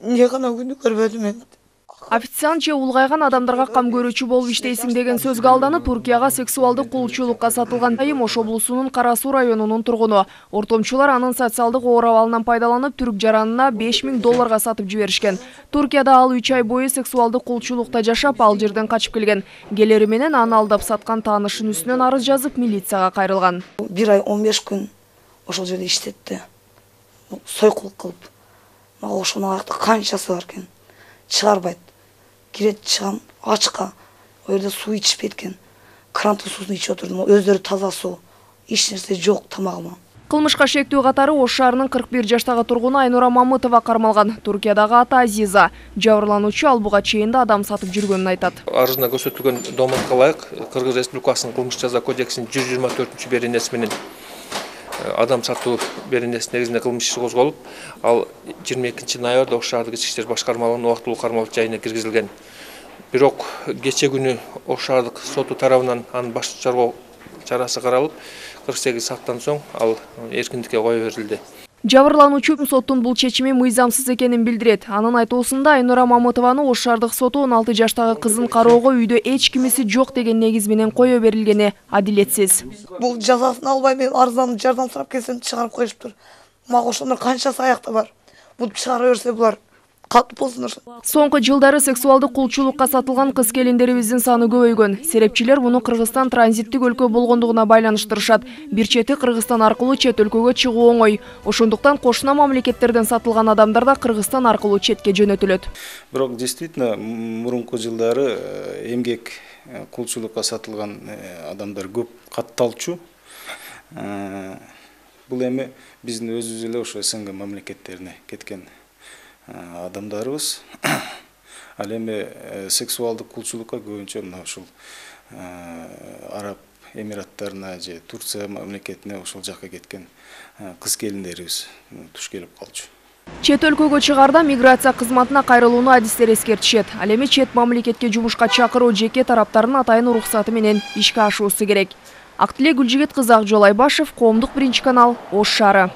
эмне гана күнү көрбөдүм мен. Официант же улгайган адамдарга кам көрүүчү болуп иштейсиң деген сөзгө алданып, Туркияга сексуалдык кулчулукка сатылган айым Ош облусунун Кара Суу районунун тургуну. Ортомчулар анын социалдык оор абалынан пайдаланып, түрк жаранына $5000 сатып жиберишкен. Туркияда ал 3 ай бою сексуалдык кулчулукта жашап, ал жерден качып келген. Келери менен аны алдап саткан таанышын үстүнөн арыз жазып, милицияга кайрылган. 1 ай 15 күн ошол жерде иштетти. Сойкулук кылып. Мага ошонун аякта канчасы бар экен. Чыгарбайт. Кирет чыгам ачка. О жерде суу ичишпейт экен. Кранты суусун ичип отурдум. Өздөрү таза суу. Эч нерсе жок тамагыма. Кылмышка шектүү катары Ош шаарынын 41 жаштагы тургуну Айнура Мамытова кармалган. Туркиядагы аты Азиза. Жабырлануучу ал буга чейин да адам сатып жүргөнүн айтат. Арызында көрсөтүлгөн доматка ылайык Кыргыз Республикасынын кылмыш жаза кодексинин 124-беренеси менен адам сатуу беренеси негизинде кылмыш иши козголуп, ал 22 ноябрда Ош шаардык ички иштер башкармалыгынын убактылуу кармалуу жайына киргизилген. Бирок кече күнү Ош шаардык соту тарабынан анын баш чаргоо чарасы каралып, 48 сааттан соң ал эркиндикке кое берилди. Жабырлануучу соттун бул чечими мыйзамсыз экенин билдирет. Анын айтуусунда Айнура Мамытованы Ош шаардык соту 16 жаштагы кызын кароого үйдө эч кимиси жок деген негиз менен кое берилгени адилетсиз. Бул жазасын албай мен арызданып жардам сурап келсем чыгарып коюшуптур. Мага ошондор канчасы аякта бар. Бул чыгара берсе булар катып болсундар. Соңку жылдары сексуалдык кулчулукка сатылган кыз келиндерибиздин саны көбөйгөн. Серепчилер муну Кыргызстан транзиттик өлкө болгондугуна байланыштырышат. Бир чети Кыргызстан аркылуу чет өлкөгө чыгуу оңой. Ошондуктан кошуна мамлекеттерден сатылган адамдар да Кыргызстан аркылуу четке жөнөтүлөт. Бирок действительно мурунку жылдары эмгек кулчулукка сатылган адамдар көп катталчу. Бул эми биздин өзүбүз эле ошо СНГ мамлекеттерине кеткен адамдарыбыз. Ал эми сексуалдык кулчулукка көбүнчө мына ушул Араб Эмираттарына же Турция мамлекетине ошол жакка кеткен кыз келиндерибиз туш келип калчу. Чет өлкөгө чыгарда миграция кызматына кайрылууну адистер эскертишет. Ал эми чет мамлекетке жумушка чакыруу жеке тараптардын атайын уруксаты менен ишке ашуусу керек. Актилек Гүлжигит кызы, Акжол Айбашев, Коомдук биринчи канал, Ош шаары.